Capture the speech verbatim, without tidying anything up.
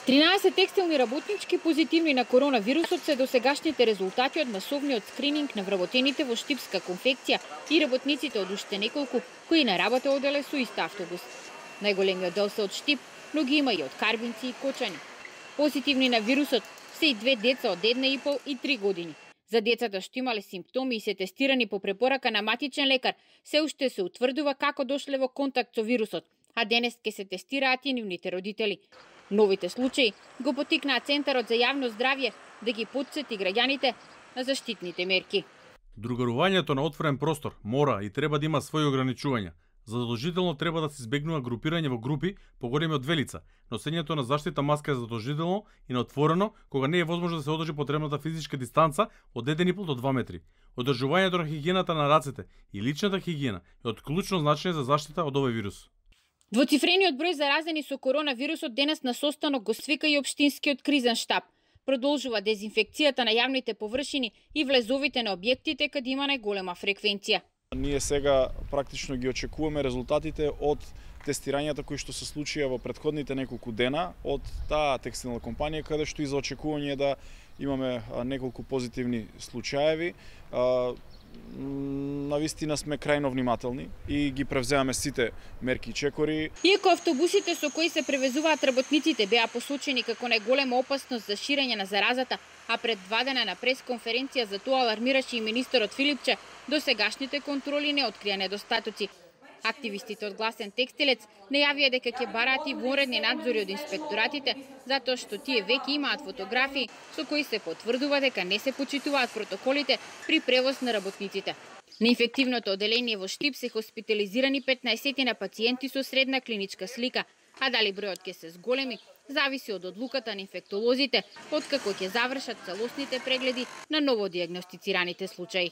тринаесет текстилни работнички позитивни на коронавирусот се досегашните резултати од масовниот скрининг на вработените во Штипска конфекција и работниците од уште неколку кои на работа оделе со ист автобус. Најголемиот дел се од Штип, но ги има и од Карбинци и Кочани. Позитивни на вирусот се и две деца од една и пол и три години. За децата што имале симптоми и се тестирани по препорака на матичен лекар, се уште се утврдува како дошле во контакт со вирусот, а денес ќе се тестираат и нивните родители. Новите случаи го потикнаа Центарот за јавно здравје да ги потсети граѓаните на заштитните мерки. Другарувањето на отворен простор мора и треба да има своји ограничувања. Задолжително треба да се избегнува групирање во групи поголеми од две лица. Носењето на заштитна маска е задолжително и на отворено кога не е возможно да се одржи потребната физичка дистанца од еден и пол до два метри. Одржувањето на хигиената на рацете и личната хигиена е од клучно значење за заштита од овој вирус. Двоцифрениот број заразени со коронавирусот денес на состанок го свика и општинскиот кризен штаб. Продолжува дезинфекцијата на јавните површини и влезовите на објектите каде има најголема фреквенција. Ние сега практично ги очекуваме резултатите од тестирањата кои што се случија во претходните неколку дена од таа текстилна компанија, каде што и за очекување да имаме неколку позитивни случаеви. Навистина сме крајно внимателни и ги превземаме сите мерки и чекори. Иако автобусите со кои се превезуваат работниците беа посочени како најголема опасност за ширење на заразата, а пред два дена на пресконференција за тоа алармираше и министерот Филипче, досегашните контроли не открија недостатоци. Активистите од Гласен текстилец најавија дека ќе бараат и вонредни надзори од инспекторатите, затоа што тие веќе имаат фотографии со кои се потврдува дека не се почитуваат протоколите при превоз на работниците. На инфективното оделение во Штип се хоспитализирани петнаесет на пациенти со средна клиничка слика, а дали бројот ќе се зголеми, зависи од одлуката на инфектолозите, откако ќе завршат целосните прегледи на новодијагностицираните случаи.